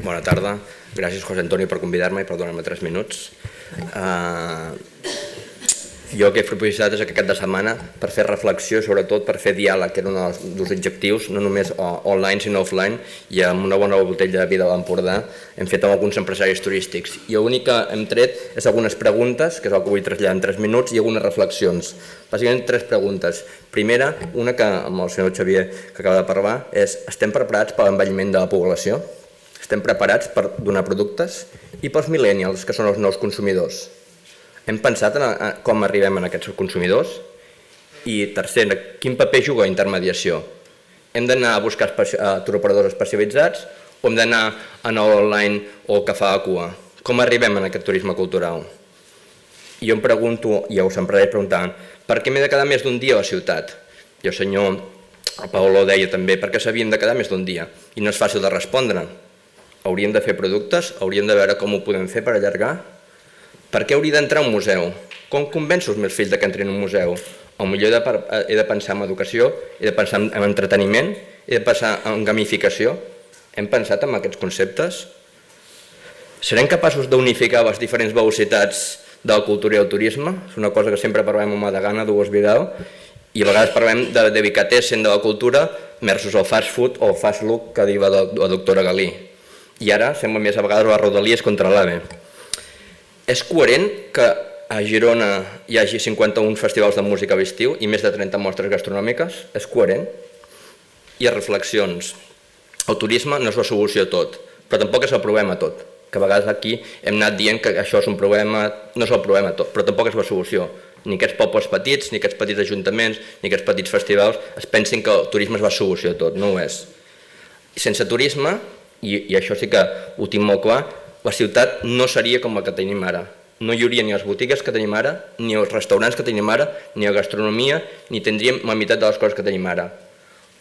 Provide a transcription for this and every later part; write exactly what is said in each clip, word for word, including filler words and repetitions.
Bona tarda. Gràcies, José Antonio, per convidar-me i per donar-me tres minuts. Uh, jo el que he proposat és aquest cap de setmana per fer reflexió, sobretot per fer diàleg, que era un dels objectius, no només online sinó offline, i amb una bona botella de vi de l'Empordà hem fet amb alguns empresaris turístics. I l'únic que hem tret és algunes preguntes, que és el que vull traslladar en tres minuts, i algunes reflexions. Bàsicament tres preguntes. Primera, una que amb el senyor Xavier que acaba de parlar, és: estem preparats per l'envelliment de la població? Estem preparats per donar productes? I pels millennials, que són els nous consumidors? Hem pensat en com arribem a aquests consumidors? I tercer, quin paper juga la intermediació? Hem d'anar a buscar touroperadors especialitzats o hem d'anar a online o que fa la cua? Com arribem a aquest turisme cultural? I jo em pregunto, i els empresaris preguntaven, per què m'he de quedar més d'un dia a la ciutat? I el senyor Paolo deia també, per què s'havien de quedar més d'un dia? I no és fàcil de respondre. Hauríem de fer productes? Hauríem de veure com ho podem fer per allargar? Per què hauria d'entrar a un museu? Com convenço els meus fills que entrin a un museu? Potser he de pensar en educació, he de pensar en entreteniment, he de pensar en gamificació. Hem pensat en aquests conceptes? Serem capaços d'unificar les diferents velocitats de la cultura i el turisme? És una cosa que sempre parlem amb Madagana, Dolors Vidal, i a vegades parlem de delicatessen de la cultura versus el fast food o el fast look que diu la doctora Galí. I ara sembla més a vegades les rodalies contra l'AVE. És coherent que a Girona hi hagi cinquanta-un festivals de música a l'estiu i més de trenta mostres gastronòmiques? És coherent? I reflexions. El turisme no és la solució a tot, però tampoc és el problema a tot. Que a vegades aquí hem anat dient que això és un problema, no és el problema a tot, però tampoc és la solució. Ni aquests pobles petits, ni aquests petits ajuntaments, ni aquests petits festivals es pensin que el turisme és la solució a tot, no ho és. Sense turisme, i això sí que ho tinc molt clar, la ciutat no seria com la que tenim ara. No hi hauria ni les botigues que tenim ara, ni els restaurants que tenim ara, ni la gastronomia, ni tindríem la meitat de les coses que tenim ara.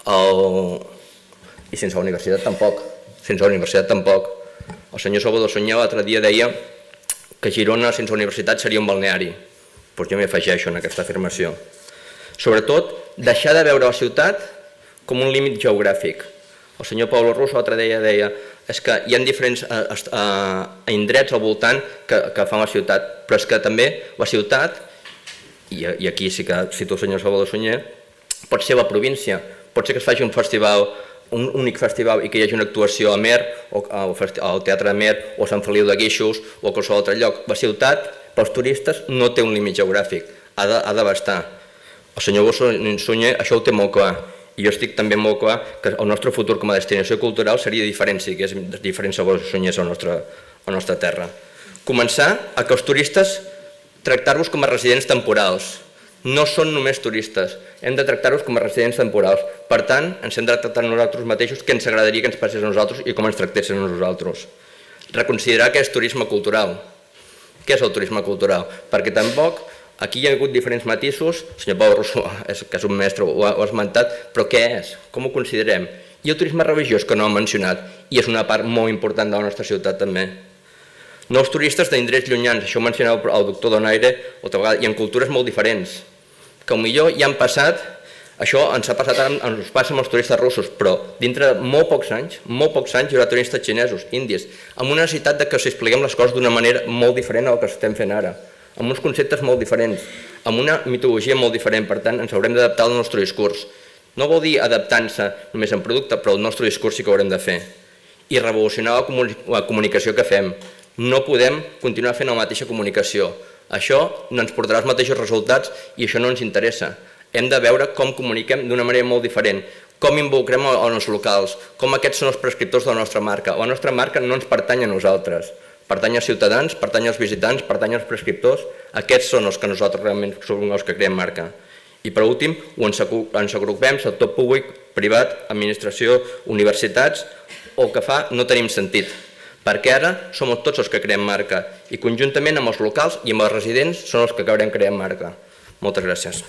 I sense la universitat tampoc. Sense la universitat tampoc. El senyor Salvador Sunyer l'altre dia deia que Girona sense universitat seria un balneari. Doncs jo m'hi afegeixo en aquesta afirmació. Sobretot, deixar de veure la ciutat com un límit geogràfic. El senyor Pablo Russo l'altre dia deia és que hi ha diferents indrets al voltant que fan la ciutat, però és que també la ciutat, i aquí sí que cito el senyor Salvador Sunyer, pot ser la província, pot ser que es faci un festival, un únic festival i que hi hagi una actuació a Mer, al Teatre de Mer, o a Sant Feliu de Guíxols, o a qualsevol altre lloc. La ciutat, pels turistes, no té un límit geogràfic, ha d'abastar. El senyor Sunyer això ho té molt clar. I jo estic també molt clar que el nostre futur com a destinació cultural seria diferent si hi hagués diferents sabors Sunyers a la nostra terra. Començar a que els turistes tractar-los com a residents temporals. No són només turistes, hem de tractar-los com a residents temporals. Per tant, ens hem de tractar nosaltres mateixos què ens agradaria que ens passés a nosaltres i com ens tractessin a nosaltres. Reconsiderar què és turisme cultural. Què és el turisme cultural? Perquè tampoc aquí hi ha hagut diferents matisos, el senyor Pau Rosso, que és un mestre, ho ha esmentat, però què és? Com ho considerem? I el turisme religiós, que no ho ha mencionat, i és una part molt important de la nostra ciutat també. Nous turistes d'indrets llunyans, això ho mencionava el doctor Donaire, i en cultures molt diferents, que potser ja han passat, això ens ha passat ara, ens passa amb els turistes russos, però dintre de molt pocs anys, molt pocs anys hi haurà turistes xinesos, índies, amb una necessitat que s'expliquem les coses d'una manera molt diferent del que estem fent ara, amb uns conceptes molt diferents, amb una mitologia molt diferent, per tant ens haurem d'adaptar al nostre discurs. No vol dir adaptant-se només en producte, però el nostre discurs sí que ho haurem de fer. I revolucionar la comunicació que fem. No podem continuar fent la mateixa comunicació. Això no ens portarà els mateixos resultats i això no ens interessa. Hem de veure com comuniquem d'una manera molt diferent, com involucrem els locals, com aquests són els prescriptors de la nostra marca. La nostra marca no ens pertany a nosaltres. Pertany als ciutadans, pertany als visitants, pertany als prescriptors. Aquests són els que nosaltres realment som els que creem marca. I per últim, ens agrupem, sector públic, privat, administració, universitats, o el que fa no tenim sentit. Perquè ara som tots els que creem marca i conjuntament amb els locals i amb els residents són els que acabarem creant marca. Moltes gràcies.